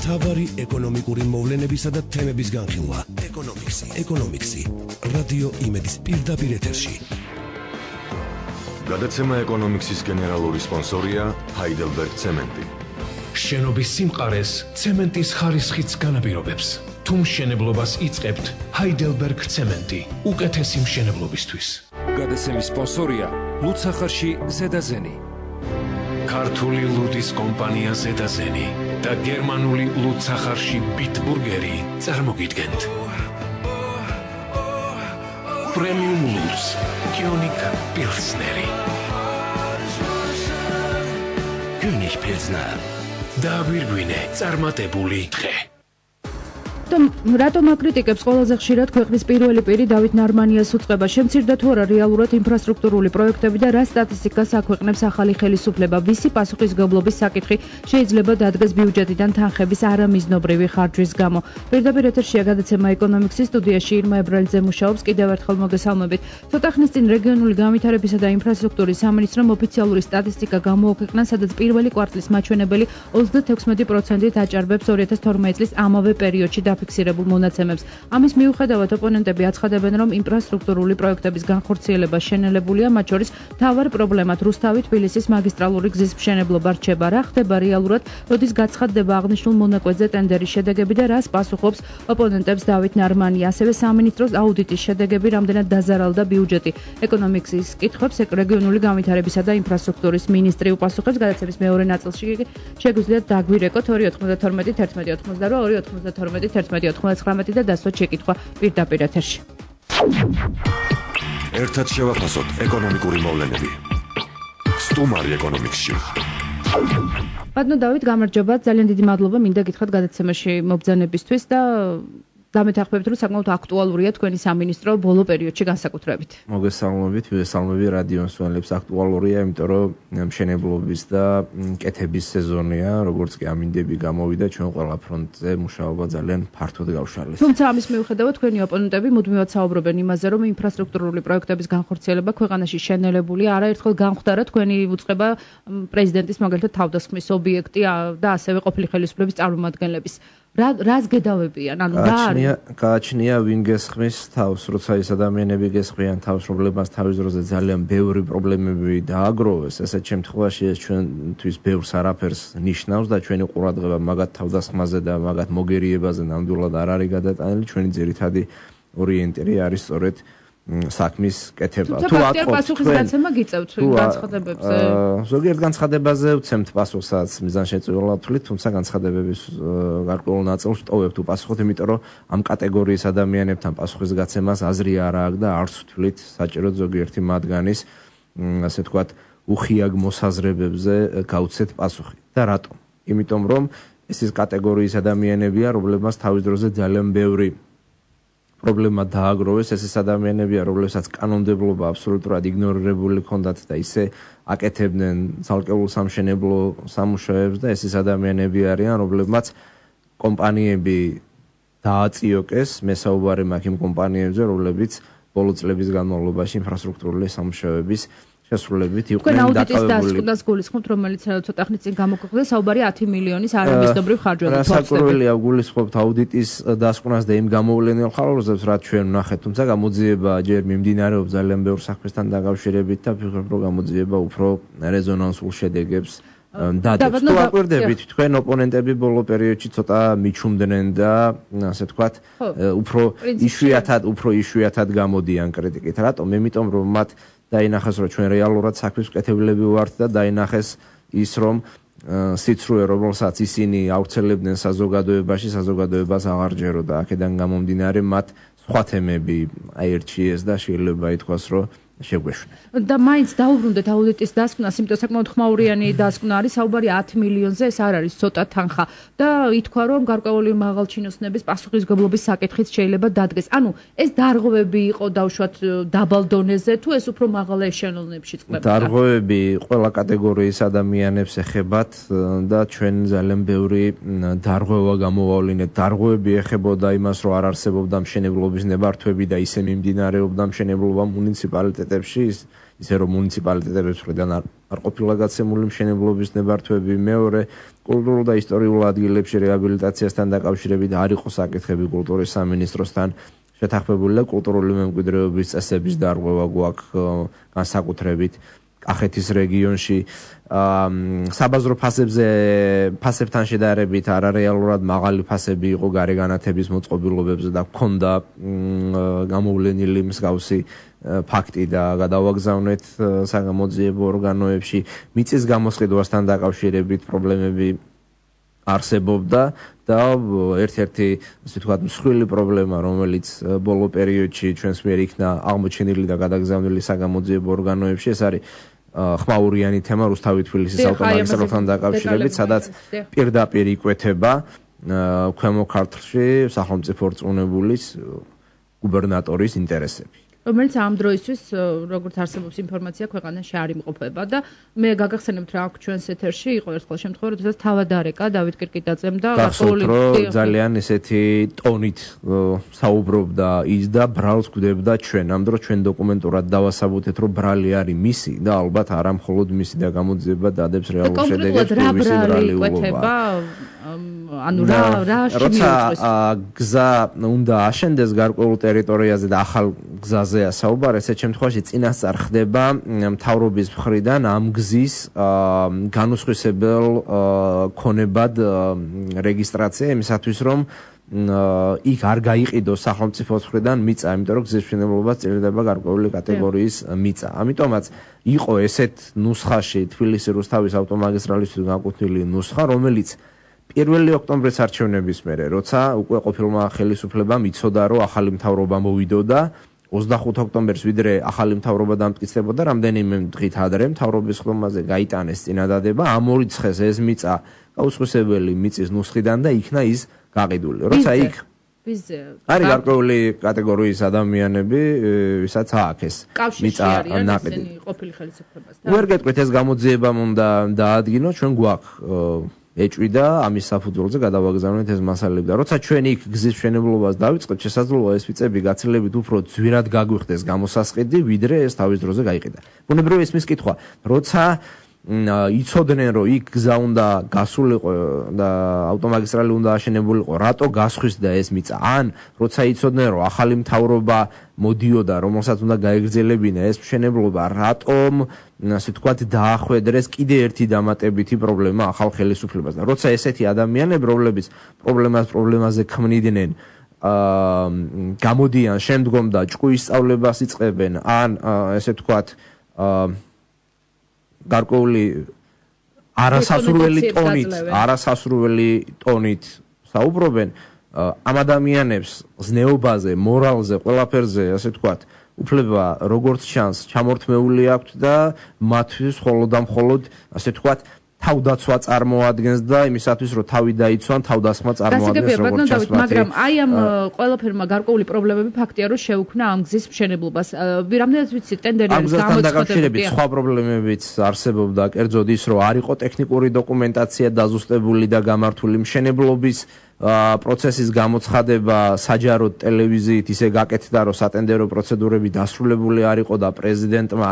მთავარი ეკონომიკური მოვლენებისა და თემების განხილვა. ეკონომიქსი. რადიო იმედის პირდაპირ ეთერში. გადაცემა ეკონომიქსის გენერალური სპონსორია Heidelberg Cement. შენობის სიმყარეს ცემენტის ხარისხიც განაპირობებს. თუ მშენებლობას იწყებთ, Heidelberg Cement. უკეთესი მშენებლობისთვის. გადაცემის სპონსორია ლუცახარში ზედაზენი. ქართული ლუდის კომპანია ზედაზენი და გერმანული ლუცახარში ბიტბურგერი წარმოგიდგენთ. პრემიუმ ლუც, კიონიკ პილსნერი. კიონიკ პილსნერ. დააგვირგვინე წარმატებული დღე. რატომ აკრიტიკებს ყველაზე ხშირად ქვეყნის პირველი პირი დავით ნარმანიას უწყება? შემცირდა თუ არა რეალურად ინფრასტრუქტურული პროექტები და რა სტატისტიკას აქვეყნებს ახალი ხელისუფლება? ვისი პასუხისმგებლობის საკითხი შეიძლება დადგეს ბიუჯეტიდან თანხების არამიზნობრივი ხარჯვის გამო? პირდაპირ ეთერშია გადაცემა ეკონომიქსის, სტუდიაში ირმა ებრალიძე მუშაობს. კიდევ ერთხელ მოგესალმებით. ცოტა ხნის წინ რეგიონული განვითარებისა და ინფრასტრუქტურის სამინისტრომ ოფიციალური სტატისტიკა გამოაქვეყნა, სადაც პირველი კვარტლის მაჩვენებელი 26% აჭარბებს 2012 წლის ამავე პერიოდში ფიქსირებულ მონაცემებს. ამის მიუხედავად ოპონენტები აცხადებენ, რომ ინფრასტრუქტურული პროექტების განხორციელება შენელებულია, მათ შორის მთავარ პრობლემად რუსთავი-თბილისის მაგისტრალური გზის მშენებლობა რჩება. რა ხდება რეალურად, როდის გაცხადდება აღნიშნულ მონაკვეთზე ტენდერის შედეგები და რას პასუხობს ოპონენტებს დავით ნარმანია? ასევე სამინისტროს აუდიტის შედეგები რამდენად დაზარალდა ბიუჯეტი? ეკონომიქსის კითხვებს რეგიონული განვითარებისა და ინფრასტრუქტურის მინისტრი უპასუხებს. გადაცემის მეორე ნაწილში შეგვიძლიათ დაგვირეკოთ 292 11 82 292 11 და დასვათ შეკითხვა პირდაპირ ეთერში. ერთად შევაფასოთ ეკონომიკური მოვლენები. სტუმარი ეკონომიქსში. ბატონო დავით, გამარჯობა, ძალიან დიდი მადლობა მინდა გითხრათ გადაცემაში მობრძანებისთვის და დამეთანხმებით, რომ საკმაოდ აქტუალურია თქვენი სამინისტრო ბოლო პერიოდში განსაკუთრებით. მოგესალმებით, ვესალმები რადიო მსმენელებს. აქტუალურია, იმიტომ რომ მშენებლობის და კეთების სეზონია, როგორც კი ამინდები გამოვიდა, ჩვენ ყველა ფრონტზე მუშაობა ძალიან ფართოდ გავშალეს. თუმცა ამის მიუხედავად თქვენი ოპონენტები მუდმივად საუბრობენ იმაზე, რომ ინფრასტრუქტურული პროექტების განხორციელება ქვეყანაში შენელებულია. არაერთხელ განხვდარა თქვენი უწყება პრეზიდენტის მაგალითად თავდასხმის ობიექტი და ასევე ყოფილი ხელისუფლების წარმომადგენლების. რას გედავებიან? ანუ გააჩნია ვინ გესხმის თავს, როცა ეს ადამიანები გესხმიან თავს პრობლემას თავის დროზე ძალიან ბევრი პრობლემები დააგროვეს. ესეთ შემთხვევაში ეს ჩვენთვის ბევრს არაფერს ნიშნავს და ჩვენი ყურადღება მაგათ თავდასხმაზე და მაგათ მოგერიებაზე ნამდვილად არ არის გადატანილი. ჩვენი ძირითადი ორიენტირი არის სწორედ საქმის კეთება. თუ პასუხის გაცემა გიწევთ განცხადებებზე? ზოგიერთ განცხადებაზე ვცემთ პასუხსაც მიზანშეწონილად ვთვლით, თუმცა განცხადებების გარკვეულ ნაწილს ვტოვებთ უპასუხოთ, იმიტომ რომ ამ კატეგორიის ადამიანებთან პასუხის გაცემას აზრი არ აქვს და არც ვთვლით საჭიროდ ზოგიერთი მათგანის, ასე ვთქვათ, უხიაგ მოსაზრებებზე გავცეთ პასუხი. და რატომ? იმიტომ რომ ეს კატეგორიის ადამიანებია, რომლებმაც თავის დროზე ძალიან ბევრი პრობლემა დააგროვეს. ეს ადამიანებია, რომლებსაც კანონმდებლობა აბსოლუტურად იგნორირებული ჰქონდათ და ისე აკეთებდნენ ცალკეულ სამშენებლო სამუშაოებს და ეს ადამიანები არიან, რომლებმაც კომპანიები დააწიოკეს. მე საუბარი მაქვს იმ კომპანიებზე, რომლებიც ბოლო წლების განმავლობაში ინფრასტრუქტურული სამუშაოების შესრულებით იყვნენ დაკავებული. აუდიტის დასკვნას გულისხმობთ, რომელიც ცოტა ხნის წინ გამოქვეყნდა, საუბარი 10 მილიონის არამიზნობრივ ხარჯვაზე. რასაკვირველია, გულისხმობთ აუდიტის დასკვნას და იმ გამოვლენილ ხარჯებს, რაც ჩვენ ვნახეთ, თუმცა გამოძიება ჯერ მიმდინარეობს ძალიან ბევრ საქმესთან დაკავშირებით და ვფიქრობ, რომ გამოძიება უფრო რეზონანსულ შედეგებს დადებს. თუ აკვირდებით, თქვენ ოპონენტები ბოლო პერიოდში ცოტა მიჩუმდნენ და ასე ვთქვათ, უფრო იშვიათად გამოდიან კრიტიკით. რატომ? იმიტომ რომ მათ დაინახეს, რომ ჩვენ რეალურად საქმის მკეთებლები ვართ და დაინახეს ის, რომ სიცრუე, რომელსაც ისინი ავრცელებდნენ საზოგადოებაში, საზოგადოებას აღარ ჯეროდა. აქედან გამომდინარე, მათ სხვა თემები აერჩიეს და შეიძლება ითქვას, რომ შეგვეშვნენ. და მაინც დაუბრუნდეთ აუდიტის დასკვნას, იმიტომ საკმაოდ ხმაურიანი დასკვნა არის, საუბარი 10 მილიონზე, ეს არ არის ცოტა თანხა და ითქვა, რომ გარკვეული მაღალჩინოსნების პასუხისმგებლობის საკითხიც შეიძლება დადგეს. ანუ ეს დარღვევები იყო დავშვათ დაბალ დონეზე, თუ ეს უფრო მაღალ ეშელონებში წყდებოდა? დარღვევები ყველა კატეგორიის ადამიანებს ეხებათ და ჩვენ ძალიან ბევრი დარღვევა გამოვავლინეთ. დარღვევები ეხებოდა იმას, რომ არ არსებობდა მშენებლობის ნებართვები და ისე მიმდინარეობდა მშენებლობა მუნიციპალიტეტებში, ისე რომ მუნიციპალიტეტების მხრიდან არ ყოფილა გაცემული მშენებლობის ნებართვები, მეორე კულტურულ და ისტორიულ ადგილებში რეაბილიტაციასთან დაკავშირებით არ იყო საკითხები კულტურის სამინისტროსთან შეთანხმებული და კულტურული მემკვიდრეობის წესების დარღვევა გვაქვს განსაკუთრებით კახეთის რეგიონში საბაზრო ფასებთან შედარებით არარეალურად მაღალი ფასები იყო გარეგანათების მოწყობილობებზე და ჰქონდა გამოვლენილი მსგავსი ფაქტი და გადავაგზავნეთ საგამოძიებო ორგანოებში მიწის გამოსყიდვასთან დაკავშირებით პრობლემები არსებობდა და ერთ-ერთი ასე ვთქვათ მსხვილი პრობლემა რომელიც ბოლო პერიოდში ჩვენს მიერ იქნა აღმოჩენილი და გადაგზავნილი საგამოძიებო ორგანოებში ეს არის ხმაურიანი თემა რუსთავი-თბილისის ავტომაგისტრალთან დაკავშირებით სადაც პირდაპირ იკვეთება ქვემო ქართლში სახელმწიფო რწმუნებულის გუბერნატორის ინტერესები რომელიც ამ დროისთვის როგორც არსებობს ინფორმაცია ქვეყანაში არ იმყოფება და მე გაგახსენებთ რა აქვს ჩვენს ეთერში იყო ერთხელ შემთხვევა როდესაც თავადარეკა დავით კირკიტაძემ და გასულით ძალიან ესეთი ტონით საუბრობდა ის და ბრალს გვდებდა ჩვენ ამ დროს ჩვენ დოკუმენტურად დავასაბუთეთ რომ ბრალი არის მისი და ალბათ არა მხოლოდ მისი და გამოძიება დადებს რეალურ შედეგებს მისი ბრალი უყობა ანუ რა როცა გზა უნდა აშენდეს გარკვეულ ტერიტორიაზე და ახალ გზაზეა საუბარი ესეთ შემთხვევაში წინასწარ ხდება მთავრობის მხრიდან ამ გზის განუსხვისებელ ქონებად რეგისტრაცია იმისათვის რომ იქ არ გაიყიდოს სახელმწიფოს მხრიდან მიწა, იმიტომ რომ გზის მშენებლობას წინდება გარკვეული კატეგორიის მიწა. ამიტომაც იყო ესეთ ნუსხაში თბილისი რუსთავის ავტომაგისტრალისთვის განკუთვნილი ნუსხა, რომელიც 1 ოქტომბრის არჩევნების მერე, როცა უკვე ყოფილმა ხელისუფლებამ იცოდა, რომ ახალი მთავრობა მოვიდოდა, 25 ოქტომბერს ვიდრე ახალი მთავრობა დამტკიცდებოდა, რამდენიმე დღით ადრე მთავრობის ხდომაზე გაიტანეს წინადადება, ამ ორი ცხეს ეს მიწა გაუსხვისებელი მიწის ნუსხიდან და იქნა ის გაყიდული. როცა იქ არის გარკვეული კატეგორიის ადამიანები, ვისაც ააქეს მიწა ნაყიდი ყოფილი ხელისუფლებასთან. ვერ გეტყვით ეს გამოძიება უნდა დაადგინოთ, ჩვენ გვაქვს ეჭვიდა ამის საფუძველზე გადავაგზავნეთ ეს მასალები და როცა ჩვენ იქ გზის მშენებლობას დავიწყებთ შესაძლოა ეს მიწები გაცილებით უფრო ძვირად გაგვიხდეს გამოსასყიდი ვიდრე ეს თავის დროზე გაიყიდა ბუნებრივია ისმის კითხვა როცა იცოდნენ რომ იქ გზა უნდა გასულიყო და ავტომაგისტრალი უნდა აშენებულიყო რატო გასხვისდა ეს მიწა ან როცა იცოდნენ რომ ახალი მთავრობა მოდიოდა რომელსაც უნდა გაეგრძელებინა ეს მშენებლობა რატომ ასე ვთქვათ დაახვედრეს კიდე ერთი დამატებითი პრობლემა ახალ ხელისუფლებას და როცა ესეთი ადამიანები რომლებიც პრობლემაზე ქმნიდნენ გამოდიან შემდგომ და ჭკუის სწავლებას იწყებენ ან ესე ვთქვათ გარკვეული არასასურველი ტონით საუბრობენ ამ ადამიანებს ზნეობაზე, მორალზე, ყველაფერზე, ასე ვთქვათ, უფლება როგორც ჩანს, ჩამორთმეული აქვთ და მათთვის მხოლოდ და მხოლოდ, ასე ვთქვათ, თავდაცვა წარმოადგენს და იმისათვის რომ თავი დაიცვან, თავდასხმა წარმოადგენს როგორც ჩანს. მაგრამ აი ამ ყველაფერმა გარკვეული პრობლემები ფაქტია რომ შეუქმნა ამ გზის მშენებლობას. რამდენად ვიცი ტენდერი არის გამოცხადებული. სხვა პრობლემებიც არსებობდა, კერძოდ ის რომ არ იყო ტექნიკური დოკუმენტაცია დაზუსტებული და გამართული მშენებლობის პროცესის გამოცხადება საჯაროდ ტელევიზიით ისე გაკეთდა რომ სატენდერო პროცედურები დასრულებული არ იყო და პრეზიდენტმა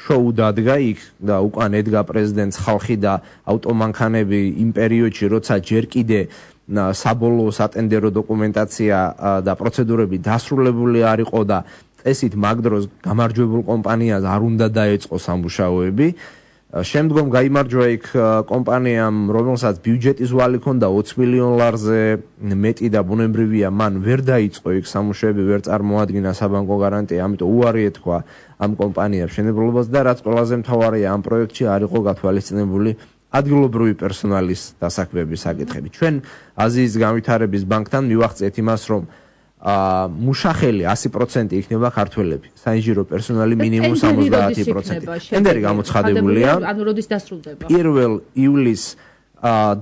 შოუ დადგა იქ და უკან ედგა პრეზიდენტს ხალხი და ავტომანქანები იმ პერიოდში როცა ჯერ კიდე საბოლოო სატენდერო დოკუმენტაცია და პროცედურები დასრულებული არ იყო და წესით მაგ დროს გამარჯვებულ კომპანიას არ უნდა დაეწყო სამუშაოები შემდგომ გაიმარჯვა იქ კომპანიამ, რომელსაც ბიუჯეტის ვალი ჰქონდა 20 მილიონ ლარზე მეტი და ბუნებრივია, მან ვერ დაიწყო იქ სამუშაოები, ვერ წარმოადგინა საბანკო გარანტია, ამიტომ უარი ეთქვა ამ კომპანიამ მშენებლობას და რაც ყველაზე მთავარია, ამ პროექტში არ იყო გათვალისწინებული ადგილობრივი პერსონალის დასაქმების საკითხები. ჩვენ აზიის განვითარების ბანკთან მივახცეთ იმას, რომ მუშახელი 100% იქნება ქართველები. საინჟინრო პერსონალი მინიმუმ 70%. ტენდერი გამოცხადებულია. ანუ როდის დასრულდება? 1 ივლისს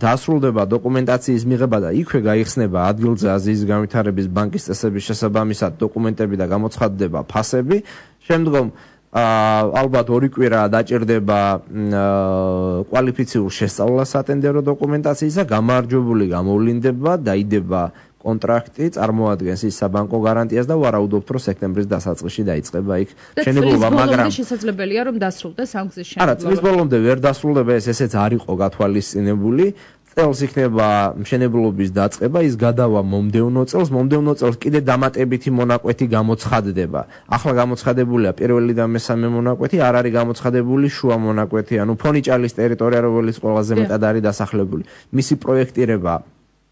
დასრულდება დოკუმენტაციის მიღება და იქვე გაიხსნება ადგილზე აზიის განვითარების ბანკის წესების შესაბამისად დოკუმენტები და გამოცხადდება ფასები. შემდგომ ალბათ 2 კვირა დაჭირდება კვალიფიციურ შესწავლას სატენდერო დოკუმენტაციისა, გამარჯვებული გამოვლინდება, დაიდება კონტრაქტი წარმოადგენს ის საბანკო გარანტიას და ვარაუდობთ, რომ სექტემბრის დასაწყისში დაიწყება იქ მშენებლობა, მაგრამ შესაძლებელია რომ დასრულდეს ამ გზის არა, წლის ბოლომდე ვერ დასრულდება, ესეც არ იყო გათვალისწინებული. წელს იქნება მშენებლობის დაწყება, ის გადავა მომდევნო წელს კიდე დამატებითი მონაკვეთი გამოცხადდება. ახლა გამოცხადებულია პირველი და მესამე მონაკვეთი, არ არის გამოცხადებული შუა მონაკვეთი, ანუ ფონიჭალის ტერიტორია, რომელიც ყველაზე მეტად არის დასახლებული. მისი პროექტირება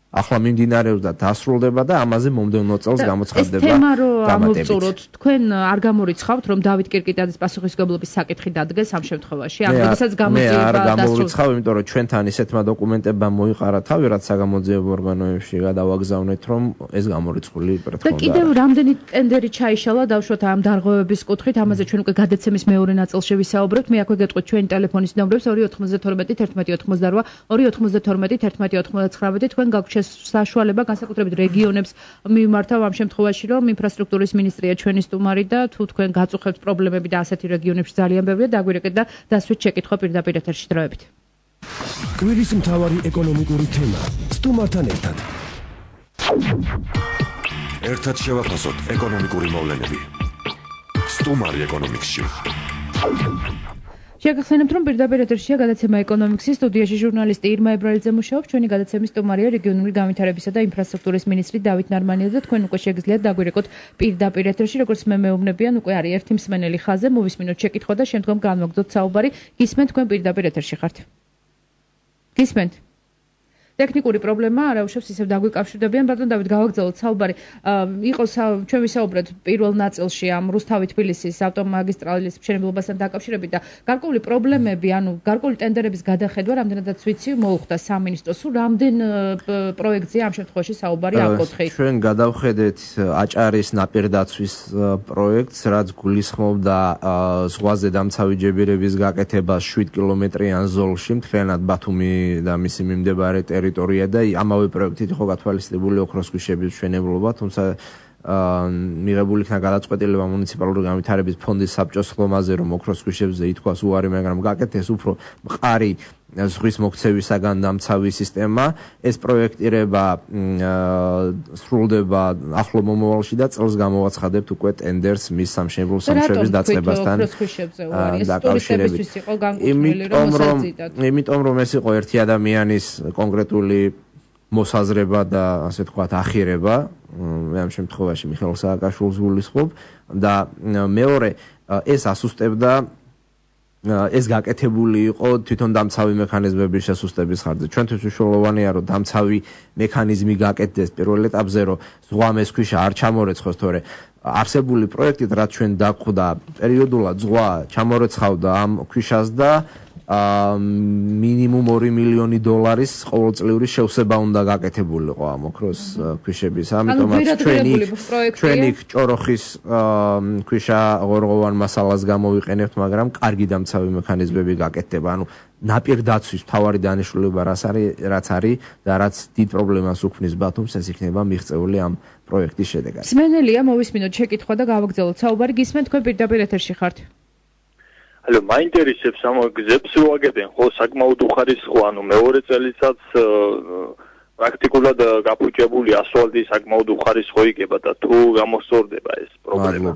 ახლა მიმდინარეობს და დასრულდება და ამაზე მომდევნო წელს გამოცხადდება. ეს თემა რომ ამოვწუროთ, თქვენ არ გამორიცხავთ, რომ დავით კირკიტაძის პასუხისმგებლობის საკითხი დადგეს ამ შემთხვევაში? ამ როდესაც გამოძიება არ გამორიცხავ, იმიტომ რომ ჩვენთან ისეთმა დოკუმენტებმა მოიყარა თავი, რაც საგამოძიებო ორგანოებში გადავაგზავნეთ, რომ ეს გამორიცხული პროტოკოლი. და კიდევ რამდენი ტენდერი ჩაიშალა დავშოთ ამ დარღვევების კუთხით, ამაზე ჩვენ უკვე გადაცემის მეორე ნაწილში ვისაუბრებთ. მე აქვე გეტყვით ჩვენი ტელეფონის ნომრებს 292 1188 292 1189 თქვენ გაგვჩნევთ საშუალება განსაკუთრებით რეგიონებს მიმართავ ამ შემთხვევაში, რომ ინფრასტრუქტურის მინისტრია ჩვენი სტუმარი და თუ თქვენ გაწუხებთ პრობლემები და ასეთი რეგიონებში ძალიან ბევრია, დაგვირეკეთ და დასვით შეკითხვა პირდაპირ ეთერში დროებით. კვირის მთავარი ეკონომიკური თემა სტუმართან ერთად. ერთად შევაფასოთ ეკონომიკური მოვლენები. სტუმარი ეკონომიკსში. შეგახსენებთ, რომ პირდაპირ ეთერშია გადაცემა ეკონომიქსის სტუდიაში ჟურნალისტი ირმა ებრალიძე მუშაობს, ჩვენი გადაცემის სტუმარია რეგიონული განვითარებისა და ინფრასტრუქტურის მინისტრი დავით ნარმანიძე და თქვენ უკვე შეგიძლიათ დაგვირეკოთ პირდაპირ ეთერში, როგორც მე მეუბნებიან, უკვე არის ერთი მსმენელი ხაზზე, მოვისმინოთ შეკითხვა და შემდგომ განვაგრძოთ საუბარი. გისმენთ, თქვენ პირდაპირ ეთერში ხართ. გისმენთ? ტექნიკური პრობლემა არაუშავს ისევ დაგვიკავშირდებიან, ბატონ დავით, გავაგრძელოთ საუბარი. იყო ჩვენ ვისაუბრეთ პირველ ნაწილში ამ რუსთავი-თბილისის ავტომაგისტრალის მშენებლობასთან დაკავშირებით და გარკვეული პრობლემები, ანუ გარკვეული ტენდერების გადახედვა, რამდენადაც ვიცი, მოუხდა სამინისტროს. სულ რამდენ პროექტზეა ამ შემთხვევაში საუბარი აკოთხით? ჩვენ გადავხედეთ აჭარის ნაპირდაცვის პროექტს, რაც გულისხმობდა ზღვაზე დამცავი ჯებირების გაკეთებას 7 კილომეტრიან ზოლში, მთლიანად ბათუმი და მისი მიმდებარე ტერიტორია და ამავე პროექტით იყო გათვალისწინებული ოქროს ქვიშების მშენებლობა, თუმცა მიღებული იქნა გადაწყვეტილება მუნიციპალური განვითარების ფონდის საბჭოს ხლომაზე, რომ ოქროს ქვიშებზე ითქვას უარი, მაგრამ გაკეთეს უფრო მყარი ზღვის მოქცევისაგან დამცავი სისტემა. ეს პროექტირება სრულდება ახლო მომავალში და წელს გამოვაცხადებთ უკვე ტენდერს მის სამშენებლო სამუშაოების დაწყებასთან დაკავშირებით. იმიტომ რომ ეს იყო ერთი ადამიანის კონკრეტული მოსაზრება და ასე ვთქვათ ახირება, მე ამ შემთხვევაში მიხეილ სააკაშვილს გულისხმობ და მეორე ეს ასუსტებდა ეს გაკეთებული იყო თვითონ დამცავი მექანიზმების შესუსტების ხარჯზე. ჩვენთვის მნიშვნელოვანია, რომ დამცავი მექანიზმი გაკეთდეს პირველ ეტაპზე, რომ ზღვამ ეს ქვიშა არ ჩამორეცხოს, თორე არსებული პროექტით, რაც ჩვენ დაგვხვდა, პერიოდულად ზღვა ჩამორეცხავდა ამ ქვიშას და მინიმუმ $2 მილიონი ყოველწლიური შევსება უნდა გაკეთებულიყო ამ ოქროს ქვიშების. ამიტომაც ჩვენი ჭოროხის ქვიშა ღორღოვან მასალას გამოვიყენებთ, მაგრამ კარგი დამცავი მექანიზმები გაკეთდება. ანუ ნაპირდაცვის მთავარი დანიშნულება რაც არის და რაც დიდ პრობლემას უქმნის ბათუმს, ეს იქნება მიღწეული ამ პროექტის შედეგად. მსმენელია, მოვისმინოთ შეკითხვა და გავაგრძელოთ საუბარი. გისმენთ, თქვენ პირდაპირ ეთერში ხართ. ალო, მაინტერესებს ამ გზებს რო აგებენ, ხო, საკმაოდ უხარისხო, ანუ მეორე წელიწადს პრაქტიკულად გაფუჭებული ასფალტი საკმაოდ უხარისხო იქება და თუ გამოსწორდება ეს პრობლემა.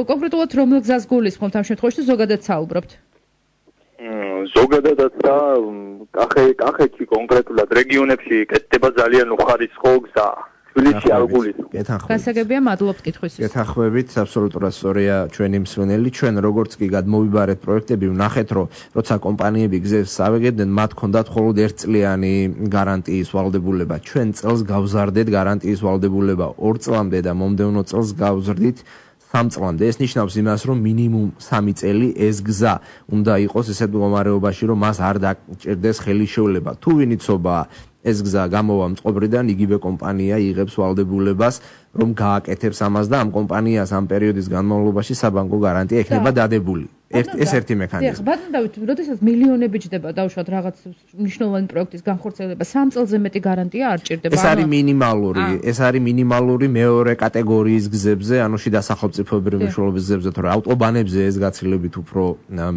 კონკრეტულად რომელ გზას გულისხმობთ ამ შემთხვევაში, ზოგადად საუბრობთ? ზოგადადაც და კახეთში კონკრეტულად რეგიონებში კეთდება ძალიან უხარისხო გზა. თბილისში არ გულისხმობთ. გასაგებია, მადლობთ კითხვისთვის. გეთანხმებით, აბსოლუტურად სწორია ჩვენი მსმენელი. ჩვენ როგორც კი გადმოვიბარეთ პროექტები, ვნახეთ, რომ როცა კომპანიები გზებს ავეგებდნენ, მათ ჰქონდათ მხოლოდ 1 წლიანი გარანტიის ვალდებულება. ჩვენ წელს გავზარდეთ გარანტიის ვალდებულება 2 წლამდე და მომდევნო წელს გავზრდით 3 წლამდე. ეს ნიშნავს იმას, რომ მინიმუმ 3 წელი ეს გზა უნდა იყოს ისეთ მდგომარეობაში, რომ მას არ დაჭერდეს ხელისშეულება. თუ ვინიცობა ეს გზა გამოვა მწყობრიდან, იგივე კომპანია იღებს ვალდებულებას, რომ გააკეთებს ამას და ამ კომპანიას ამ პერიოდის განმავლობაში საბანკო გარანტია ექნება დადებული. ეს ერთი მექანიზმი. ბატონ დავით, როდესაც მილიონები ჯდება დავუშვათ რაღაც მნიშვნელოვანი პროექტის განხორციელება, 3 წელზე მეტი გარანტია არ ჭირდება. ეს არის მინიმალური მეორე კატეგორიის გზებზე, ანუ შიდა სახელმწიფოებრივი მნიშვნელობის გზებზე, თორე ავტობანებზე ეს გაცილებით უფრო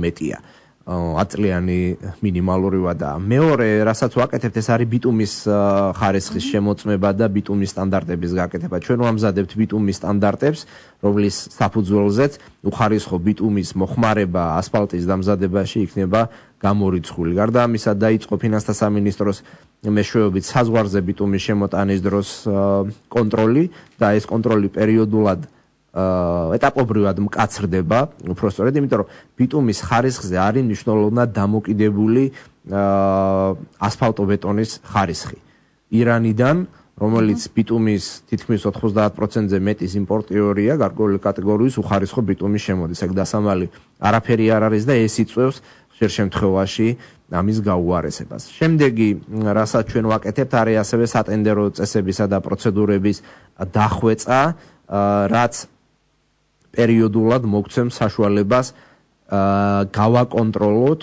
მეტია. აწლიანი მინიმალური ვადაა. მეორე, რასაც ვაკეთებთ, ეს არის ბიტუმის ხარისხის შემოწმება და ბიტუმის სტანდარტების გაკეთება. ჩვენ ვამზადებთ ბიტუმის სტანდარტებს, რომლის საფუძველზეც უხარისხო ბიტუმის მოხმარება ასფალტის დამზადებაში იქნება გამორიცხული. გარდა ამისა, დაიწყო ფინანსთა სამინისტროს მეშვეობით საზღვარზე ბიტუმის შემოტანის დროს კონტროლი და ეს კონტროლი პერიოდულად ეტაპობრივად მკაცრდება, უფრო სწორედ, იმიტომ რომ ბიტუმის ხარისხზე არის მნიშვნელოვნად დამოკიდებული ასფალტობეტონის ხარისხი. ირანიდან, რომელიც ბიტუმის თითქმის 90%-ზე მეტის იმპორტიორია, გარკვეული კატეგორიის უხარისხო ბიტუმის შემოდის. ეგ დასამალი არაფერი არ არის და ეს იწვევს ხშირ შემთხვევაში ამის გაუარესებას. შემდეგი, რასაც ჩვენ ვაკეთებთ, არის ასევე სატენდერო წესებისა და პროცედურების დახვეწა, რაც პერიოდულად მოგცემს საშუალებას გავაკონტროლოთ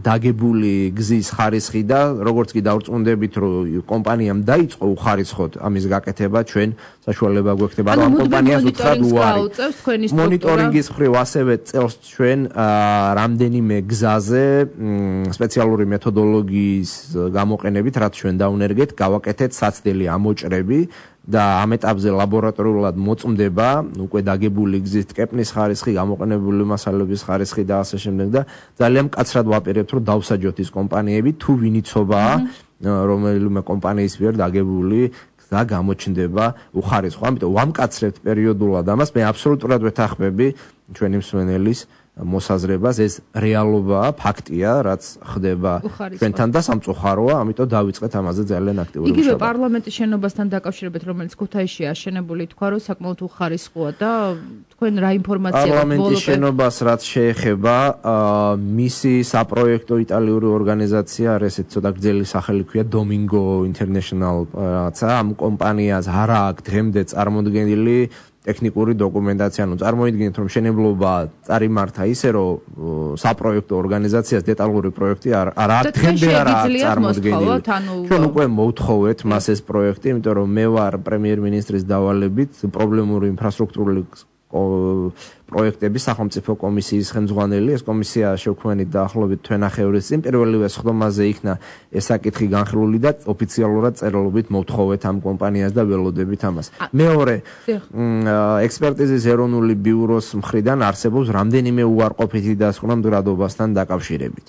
დაგებული გზის ხარისხი და როგორც კი დავრწმუნდებით, რომ კომპანიამ დაიწყო უხარისხოთ ამის გაკეთება, ჩვენ საშუალება გვექნება, რომ ამ კომპანიას უთხრათ უარი. მონიტორინგის მხრივ ასევე წელს ჩვენ რამდენიმე გზაზე სპეციალური მეთოდოლოგიის გამოყენებით, რაც ჩვენ დავნერგეთ, გავაკეთეთ საცდელი ამოჭრები და ამ ეტაპზე ლაბორატორიულად მოწმდება უკვე დაგებული გზის ტკეპნის ხარისხი, გამოყენებული მასალების ხარისხი და ასე შემდეგ და ძალიან მკაცრად ვაპირებთ, რომ დავსაჯოთ ის კომპანიები, თუ ვინ იცობაა, რომელიმე კომპანიის მიერ დაგებული გზა გამოჩნდება უხარისხო. ამიტომ ვამკაცრებთ პერიოდულად ამას, მე აბსოლუტურად ვეთანხმები ჩვენი მსმენელის მოსაზრებას, ეს რეალობაა, ფაქტია, რაც ხდება ჩვენთან და სამწუხაროა, ამიტომ დავიწყეთ ამაზე ძალიან აქტიური მუშაობა. იგივე პარლამენტის შენობასთან დაკავშირებით, რომელიც ქუთაისშია აშენებული, თქვა, რომ საკმაოდ უხარისხოა და თქვენ რა ინფორმაცია გაქვთ? პარლამენტის შენობას რაც შეეხება, მისი საპროექტო იტალიური ორგანიზაცია, ესეც ცოტა გრძელი სახელი ქვია Domingo International, რაცა ამ კომპანიას არ აქვს დღემდე წარმოდგენილი ტექნიკური დოკუმენტაცია, ანუ წარმოიდგინეთ, რომ მშენებლობა წარიმართა ისე, რომ საპროექტო ორგანიზაციას დეტალური პროექტი არ აქვს, დღემდე არ აქვს წარმოდგენილი. ჩვენ უკვე მოვთხოვეთ მას ეს პროექტი, იმიტომ რომ მე ვარ პრემიერ-მინისტრის დავალებით პრობლემური ინფრასტრუქტურული პროექტების სახელმწიფო კომისიის ხელმძღვანელი. ეს კომისია შევქმნით დაახლოებით თვენახევრის წინ. პირველივე სხდომაზე იქნა ეს საკითხი განხილული და ოფიციალურად წერილობით მოვთხოვეთ ამ კომპანიას და ველოდებით ამას. მეორე, ექსპერტიზის ეროვნული ბიუროს მხრიდან არსებობს რამდენიმე უარყოფითი დასკვნა მდგრადობასთან დაკავშირებით.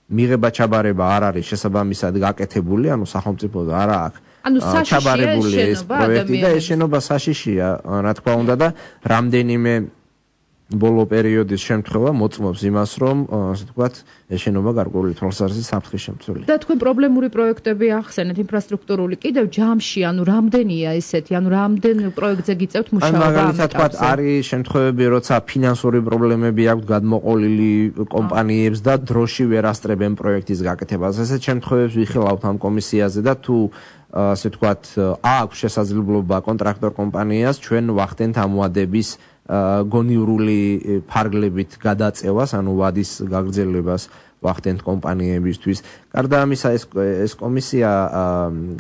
მიღება ჩაბარება არ არის შესაბამისად გაკეთებული, ანუ სახელმწიფო არ აქვს ჩაბარებული ეს პროექტი და ეს შენობა საშიშია, რა თქმა უნდა და რამდენიმე ბოლო პერიოდის შემთხვევა მოწმობს იმას, რომ ასე ვთქვათ, ეს შენობა გარკვეული თვალსაზრისით საფრთხის შემცველია. და თქვენ პრობლემური პროექტები ახსენეთ ინფრასტრუქტურული, კიდევ ჯამში, ანუ რამდენია ესეთი, ანუ რამდენ პროექტზე გიწევთ მუშაობა? მაგალითად ვთქვათ, არის შემთხვევები, როცა ფინანსური პრობლემები აქვს გადმოყოლილი კომპანიებს და დროში ვერ ასწრებენ პროექტის გაკეთებას. ესეთ შემთხვევებს ვიხილავთ ამ კომისიაზე და თუ ასე ვთქვათ, აქვს შესაძლებლობა კონტრაქტორ კომპანიას ჩვენ ვახდენთ ამ ვადების გონივრული ფარგლებით გადაწევას, ანუ ვადის გაგრძელებას ვახდენთ კომპანიებისთვის. გარდა ამისა, ეს კომისია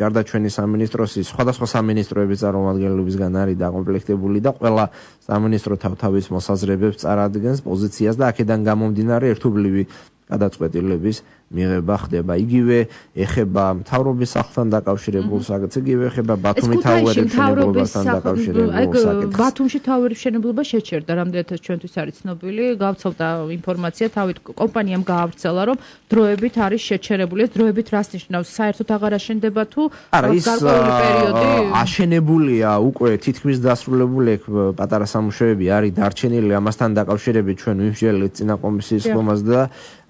გარდა ჩვენი სამინისტროსის სხვადასხვა სამინისტროების წარმომადგენლებისგან არის დაკომპლექტებული და ყველა სამინისტრო თავთავის მოსაზრებებს წარადგენს, პოზიციას და აქედან გამომდინარე ერთობლივი გადაწყვეტილების მიღება ხდება. იგივე ეხება მთავრობის სახლთან დაკავშირებულ საკითხს, იგივე ეხება ბათუმის თავერის მშენებლობასთან დაკავშირებულ საკითხს. ბათუმში თავერის მშენებლობა შეჩერდა, რამდენადაც ჩვენთვის არის ცნობილი, გავცელდა ინფორმაცია, თავით კომპანიამ გაავრცელა, რომ დროებით არის შეჩერებული. ეს დროებით რას ნიშნავს? საერთოდ აღარ აშენდება თუ გარკვეული პერიოდი? აშენებულია უკვე თითქმის დასრულებული, პატარა სამუშაოები არის დარჩენილი, ამასთან დაკავშირებით ჩვენ ვიმსჯელეთ წინა კომისიის ხომას და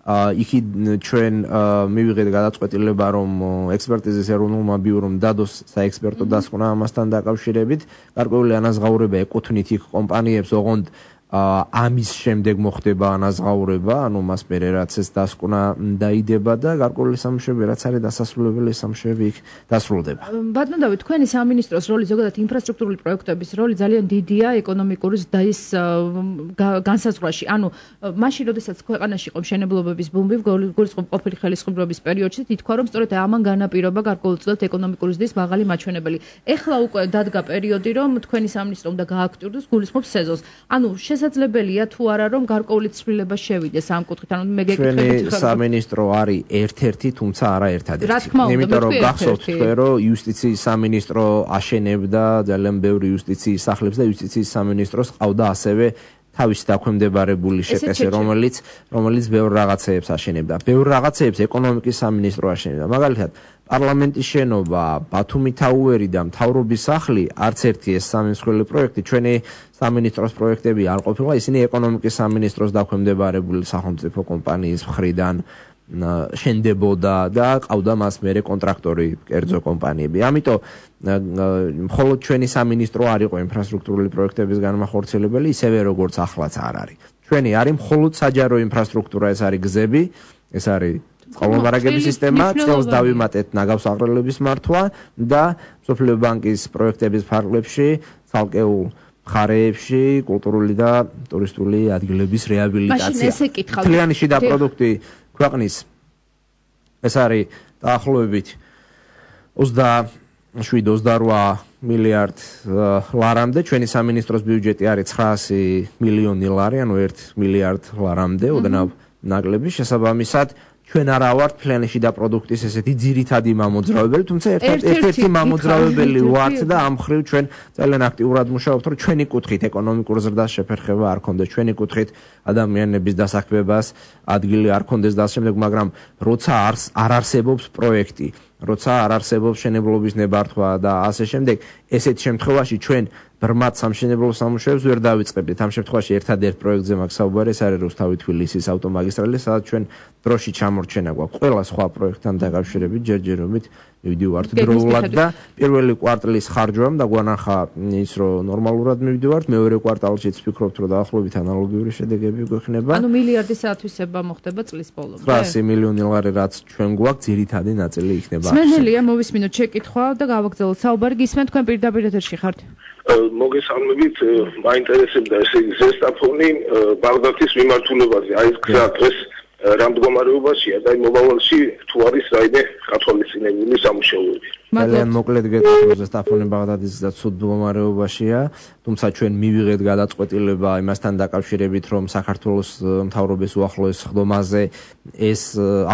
იქი ჩვენ მივიღეთ გადაწყვეტილება, რომ ექსპერტიზის ეროვნულმა ბიურომ დადოს საექსპერტო დასკვნა ამასთან დაკავშირებით. გარკვეული ანაზღაურება ეკუთვნით იქ კომპანიებს, ოღონდ ამის შემდეგ მოხდება ანაზღაურება, ანუ მას მერე რაც ეს დასკვნა დაიდება და გარკვეული სამუშაოები რაც არის დასასრულებელი, სამუშაოები იქ დასრულდება. ბატონო დავით, თქვენი სამინისტროს როლი, ზოგადად ინფრასტრუქტურული პროექტების როლი ძალიან დიდია ეკონომიკური ზრდის განსაზღვრაში. ანუ მაშინ, როდესაც ქვეყანაში იყო მშენებლობების ბუმი, გულისხმობ ყოფილი ხელისუფლების პერიოდში, ითქვა, რომ სწორედ ამან განაპირობა გარკვეულწილად ეკონომიკური ზრდის მაღალი მაჩვენებელი. ეხლა უკვე დადგა პერიოდი, რომ თქვენი სამინისტრო უნდა გააქტიუროს გულისხმობ სეზონს. ანუ შესაძლებელია თუ არა რომ გარკვეული ცვლილება შევიდეს ამ კუთხით, ანუ მე გეკითხებით ჩვენი სამინისტრო არის ერთ-ერთი, თუმცა არა ერთადერთი. იმიტომ რომ გახსოვთ თქვენ რომ იუსტიციის სამინისტრო აშენებდა ძალიან ბევრი იუსტიციის სახლებს და იუსტიციის სამინისტროს ყავდა ასევე თავისი დაქვემდებარებული შეტესე, რომელიც ბევრ რაღაცეებს აშენებდა. ბევრ რაღაცეებს ეკონომიკის სამინისტრო აშენებდა. მაგალითად, პარლამენტის შენობა, ბათუმი თაუერი და მთავრობის სახლი, არც ერთი ეს სამსხვილი პროექტი ჩვენი სამინისტროს პროექტები არ ყოფილა, ისინი ეკონომიკის სამინისტროს დაქვემდებარებული სახელმწიფო კომპანიის მხრიდან შენდებოდა და ყავდა მას მერე კონტრაქტორი, კერძო კომპანიები. ამიტომ მხოლოდ ჩვენი სამინისტრო არ იყო ინფრასტრუქტურული პროექტების განმახორციელებელი, ისევე როგორც ახლაც არ არის. ჩვენი არის მხოლოდ საჯარო ინფრასტრუქტურა, ეს არის გზები, ეს არის წყალმომარაგების სისტემა, წელს დავიმატეთ ნაგავს აღრელების მართვა და მსოფლიო ბანკის პროექტების ფარგლებში ცალკეულ მხარეებში კულტურული და ტურისტული ადგილების რეაბილიტაცია. მთლიანი შიდა პროდუქტი ქვეყნის ეს არის დაახლოებით 27-28 მილიარდ ლარამდე, ჩვენი სამინისტროს ბიუჯეტი არის 900 მილიონი ლარი, ანუ 1 მილიარდ ლარამდე, ოდნავ ნაკლები. შესაბამისად ჩვენ არა ვართ მთლიანი შიდა პროდუქტის ესეთი ძირითადი მამოძრავებელი, თუმცა ერთ-ერთი მამოძრავებელი ვართ და ამ მხრივ ჩვენ ძალიან აქტიურად მუშაობთ, რომ ჩვენი კუთხით ეკონომიკურ ზრდას შეფერხება არ ქონდეს, ჩვენი კუთხით ადამიანების დასაქმებას ადგილი არ ქონდეს და ამ შემდეგ, მაგრამ როცა არ არსებობს პროექტი, როცა არ არსებობს მშენებლობის ნებართვა და ასე შემდეგ, ესეთ შემთხვევაში ჩვენ ბრმად სამშენებლო სამუშაოებს ვერ დავიწყებდით. ამ შემთხვევაში ერთადერთ პროექტზე მაქვს საუბარი, ეს არის რუსთავი-თბილისის ავტომაგისტრალი, სადაც ჩვენ დროში ჩამორჩენა გვაქვს. ყველა სხვა პროექტთან დაკავშირებით ჯერჯერობით მივდივართ დროულად და პირველი კვარტლის ხარჯვამ დაგვანახა ის, რომ ნორმალურად მივდივართ, მეორე კვარტალშიც ვფიქრობთ, რომ დაახლოებით ანალოგიური შედეგები გვექნება. ანუ მილიარდის ათვისება მოხდება წლის ბოლომდე. 900 მილიონი ლარი რაც ჩვენ გვაქვს, ძირითადი ნაწილი იქნება. სმენელია მოვისმინოთ შეკითხვა და გავაგრძელოთ საუბარი. გისმენთ, თქვენ პირდაპირ ეთერში ხართ. მოგესალმებით, მაინტერესებდა ესე ზესტაფონი ბაღდათის მიმართულებაზე. აი ეს გზა დღეს რა მდგომარეობაშია და მომავალში თუ არის რაიმე გათვალისწინებული სამუშაოები. ძალიან მოკლედ გეტყვით, ზესტაფონი ბაღდათის გზა ცუდ მდგომარეობაშია, თუმცა ჩვენ მივიღეთ გადაწყვეტილება იმასთან დაკავშირებით, რომ საქართველოს მთავრობის უახლოეს ხდომაზე ეს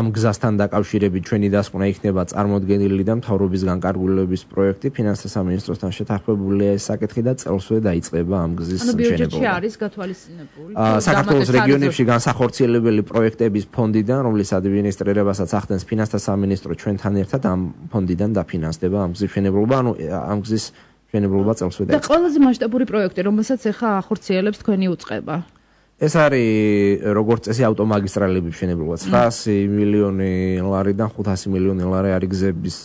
ამ გზასთან დაკავშირებით ჩვენი დასკვნა იქნება წარმოდგენილი და მთავრობის განკარგულების პროექტი ფინანსთა სამინისტროსთან შეთანხმებულია ეს საკითხი და წელსვე დაიწყება ამ გზის მშენებლობა. ბიუჯეტში არის გათვალისწინებული. საქართველოს რეგიონებში განსახორციელებელი პროექტების ფონდიდან, რომლის ადმინისტრირებასაც ახდენს ფინანსთა სამინისტრო, ჩვენთან ერთად ამ ფონდიდან დაფინანსდება ამ გზის მშენებლობა, ანუ ამ გზის მშენებლობა წელსვე დაიწყება. და ყველაზე მასშტაბური პროექტი, რომელსაც ახლა ახორციელებს თქვენი უწყება. ეს არის როგორც წესი ავტომაგისტრალების მშენებლობა. 900 მილიონი ლარიდან 500 მილიონი ლარი არის გზების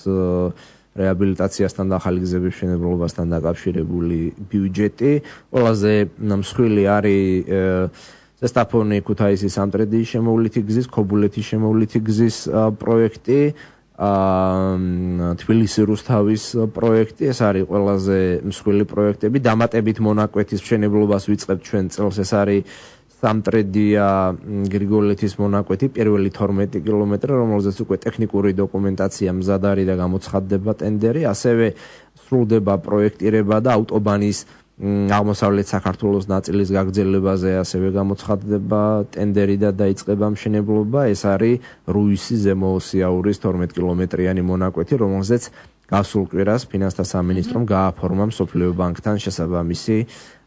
რეაბილიტაციასთან და ახალი გზების მშენებლობასთან დაკავშირებული ბიუჯეტი. ყველაზე მსხვილი არის ზესტაფონი ქუთაისის სამტრედიის შემოვლითი გზის, ქობულეთის შემოვლითი გზის პროექტი, თბილისი რუსთავის პროექტი, ეს არის ყველაზე მსხვილი პროექტები. დამატებით მონაკვეთის მშენებლობას ვიწყებთ ჩვენ წელს, ეს არის სამტრედია გრიგოლეთის მონაკვეთი, პირველი 12 კილომეტრი, რომელზეც უკვე ტექნიკური დოკუმენტაცია მზად არის და გამოცხადდება ტენდერი, ასევე სრულდება პროექტირება და ავტობანის აღმოსავლეთ საქართველოს ნაწილის გაგრძელებაზე ასევე გამოცხადდება ტენდერი და დაიწყება მშენებლობა. ეს არის რუისის ზემოოსიაურის 12 კილომეტრიანი მონაკვეთი, რომელზეც გასულ კვირას ფინანსთა სამინისტრომ გააფორმა მსოფლიო ბანკთან შესაბამისი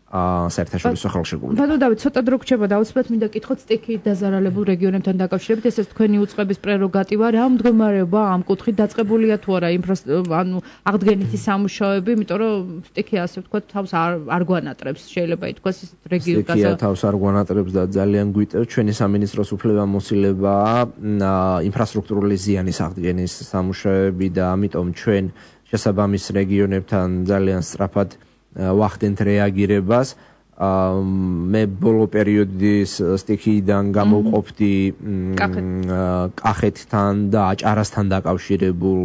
საერთაშორისო ხელშეკრულება. ბატონო დავით, ცოტა დრო გრჩება და აუცილებლად მინდა გითხოთ სტიქიით დაზარალებულ რეგიონებთან დაკავშირებით, ესეც თქვენი უწყების პრეროგატივა, რა მდგომარეობა ამ კუთხით დაწყებულია თუ არა ანუ აღდგენითი სამუშაოები, იმიტომ რომ სტიქი ასე ვთქვათ თავს არ გვანატრებს, შეიძლება ითქვას ეს რეგიონი სტიქია თავს არ გვანატრებს და ძალიან გვიტევს ჩვენი სამინისტროს უფლებამოსილებაა ინფრასტრუქტურული ზიანის აღდგენის სამუშაოები და ამიტომ ჩვენ შესაბამის რეგიონებთან ძალიან სწრაფად ვახდენთ რეაგირებას. მე ბოლო პერიოდის სტიქიიდან გამოვყოფდი კახეთთან და აჭარასთან დაკავშირებულ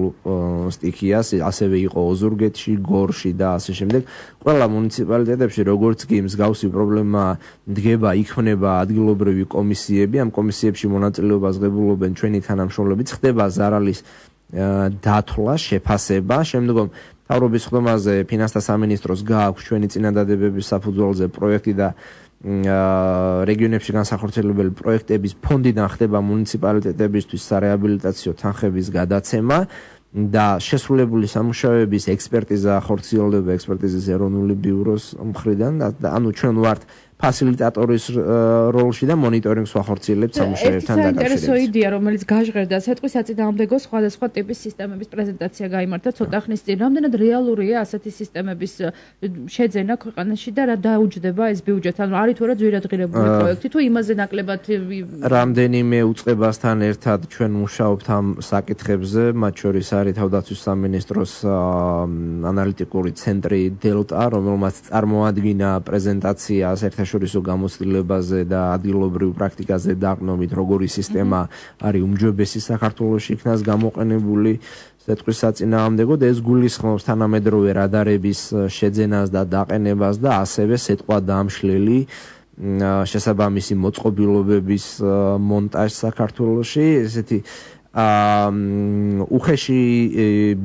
სტიქიას, ასევე იყო ოზურგეთში, გორში და ასე შემდეგ. ყველა მუნიციპალიტეტებში როგორც კი მსგავსი პრობლემა დგება, იქმნება ადგილობრივი კომისიები, ამ კომისიებში მონაწილეობას ღებულობენ ჩვენი თანამშრომლები, ხდება ზარალის დათვლა, შეფასება, შემდგომ მთავრობის ხდომაზე ფინანსთა სამინისტროს გააქვს ჩვენი წინადადებების საფუძველზე პროექტი და რეგიონებში განსახორციელებელი პროექტების ფონდიდან ხდება მუნიციპალიტეტებისთვის სარეაბილიტაციო თანხების გადაცემა და შესრულებული სამუშაოების ექსპერტიზა ხორციელდება ექსპერტიზის ეროვნული ბიუროს მხრიდან და ანუ ჩვენ ვართ ფასილიტატორის როლში და მონიტორინგს ვახორციელებთ სამუშაოებთან დაკავშირებით. საინტერესო იდეა, რომელიც გაჟღერდა სიტყვის საწინააღმდეგო სხვადასხვა ტიპის სისტემების პრეზენტაცია გაიმართა ცოტა ხნის წინ. რამდენად რეალურია ასეთი სისტემების შეძენა ქვეყანაში და რა დაუჯდება ეს ბიუჯეტი? ანუ არის თუ არა ძვირადღირებული პროექტი თუ იმაზე ნაკლებად რამდენიმე უწყებასთან ერთად ჩვენ მუშაობთ ამ საკითხებზე, მათ შორის არის თავდაცვის სამინისტროს ანალიტიკური ცენტრი დელტა, რომელმაც წარმოადგინა პრეზენტაცია საერთაშორისო გამოცდილებაზე და ადგილობრივ პრაქტიკაზე დაყრდნობით, როგორი სისტემა არის უმჯობესი საქართველოში იქნას გამოყენებული სიტყვის საწინააღმდეგოდ. ეს გულისხმობს თანამედროვე რადარების შეძენას და დაყენებას და ასევე სიტყვა დამშლელი შესაბამისი მოწყობილობების მონტაჟს საქართველოში. ესეთი უხეში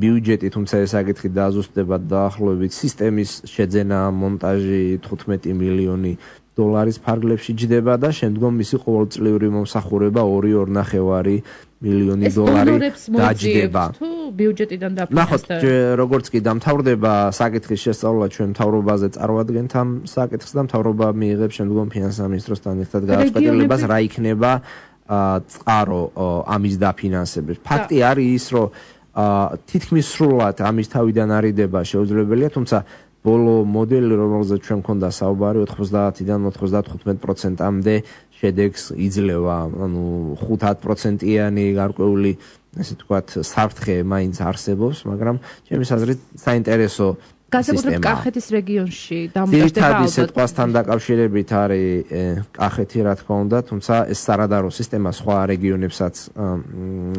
ბიუჯეტი, თუმცა ეს საკითხი დააზუსტება დაახლოებით სისტემის შეძენა, მონტაჟი 15 მილიონი დოლარის ფარგლებში ჯდება და შემდგომ მისი ყოველწლიური მომსახურება 2.5 მილიონი დოლარი დაჯდება. თუ ბიუჯეტიდან დაფინანსდა. ნახოთ, როგორც კი დამთავრდება საკითხის შესწავლა, ჩვენ მთავრობაზე წარვადგენთ ამ საკითხს და მთავრობა მიიღებს შემდგომ ფინანსთა მინისტროსთან ერთად გადაწყვეტილებას, რა იქნება წყარო ამის დაფინანსების. ფაქტი არის ის, რომ თითქმის სრულად ამის თავიდან არიდება შეუძლებელია, თუმცა ბოლო მოდელი, რომელზეც ჩვენ მქონდა საუბარი, 90-დან 95%-მდე შედეგს იძლევა. ანუ 5-10%-იანი გარკვეული, ესე ვთქვათ, საფრთხე მაინც არსებობს, მაგრამ ჩემის აზრით საინტერესო განსაკუთრებით კახეთის რეგიონში დამოკიდებული ძირითადი სიტყვასთან დაკავშირებით არის კახეთი, რა თქმა უნდა, თუმცა ეს სარადარო სისტემა სხვა რეგიონებსაც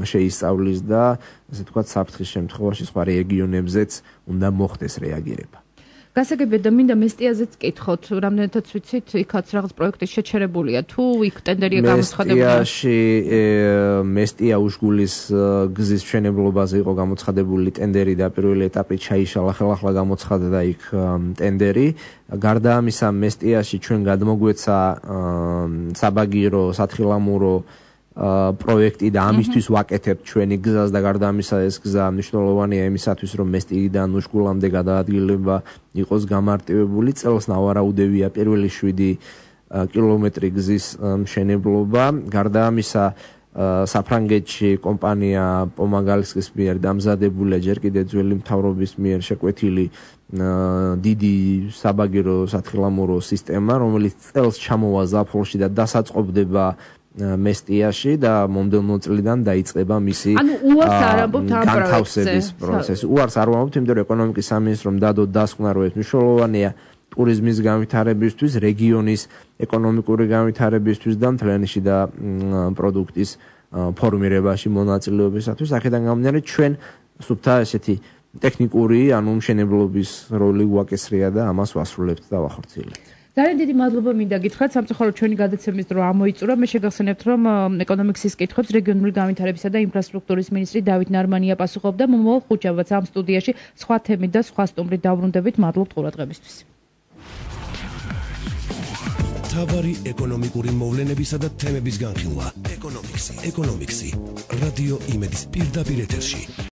შეისწავლის და ესე ვთქვათ, საფრთხის შემთხვევაში სხვა რეგიონებზეც უნდა მოხდეს რეაგირება. გასაგებია და მინდა მესტიაზეც კითხოთ, რამდენადაც ვიცით, იქაც რაღაც პროექტი შეჩერებულია, თუ იქ ტენდერია გამოცხადებული? მესტია უშგულის გზის მშენებლობაზე იყო გამოცხადებული ტენდერი და პირველი ეტაპი ჩაიშალა, ხელახლა გამოცხადდა იქ ტენდერი. გარდა ამისა, მესტიაში ჩვენ გადმოგვეცა საბაგირო, სათხილამურო პროექტი და ამისთვის ვაკეთებთ ჩვენი გზას და გარდა ამისა ეს გზა მნიშვნელოვანია იმისათვის, რომ მესტიიდან უშგულამდე გადაადგილება იყოს გამარტივებული. წელს ნავარაუდევია პირველი 7 კილომეტრი გზის მშენებლობა. გარდა ამისა საფრანგეთში კომპანია პომაგალსკის მიერ დამზადებულია ჯერ კიდევ ძველი მთავრობის მიერ შეკვეთილი დიდი საბაგირო სათხილამურო სისტემა, რომელიც წელს ჩამოვა ზაფხულში და დასაწყობდება მესტიაში და მომდევნო წლიდან დაიწყება მისი განთავსების პროცესი. უარს არ ვამბობთ, იმიტომ რომ ეკონომიკის სამინისტრომ დადო დასკვნა, რომ ეს მნიშვნელოვანია ტურიზმის განვითარებისთვის, რეგიონის ეკონომიკური განვითარებისთვის და მთლიანში და პროდუქტის ფორმირებაში მონაწილეობისათვის. აქედან გამომდინარე, ჩვენ სუფთა ესეთი ტექნიკური, ანუ მშენებლობის როლი უაკისრია და ამას ვასრულებთ და ვახორციელებთ. ძალიან დიდი მადლობა მინდა გითხრათ, სამწუხაროდ ჩვენი გადაცემის დრო ამოიწურა. მე შეგახსენებთ, რომ ეკონომიკის კითხვებს რეგიონული განვითარებისა და ინფრასტრუქტურის მინისტრი დავით ნარმანია პასუხობდა. მომავალ ხუთშაბათს ამ სტუდიაში სხვა თემით და სხვა სტუმრით დავრუნდებით. მადლობთ ყურადღებისთვის. თავარი ეკონომიკური მოვლენებისა და თემების განხილვა. ეკონომიქსი. რადიო იმედის პირდაპირ ეთერში.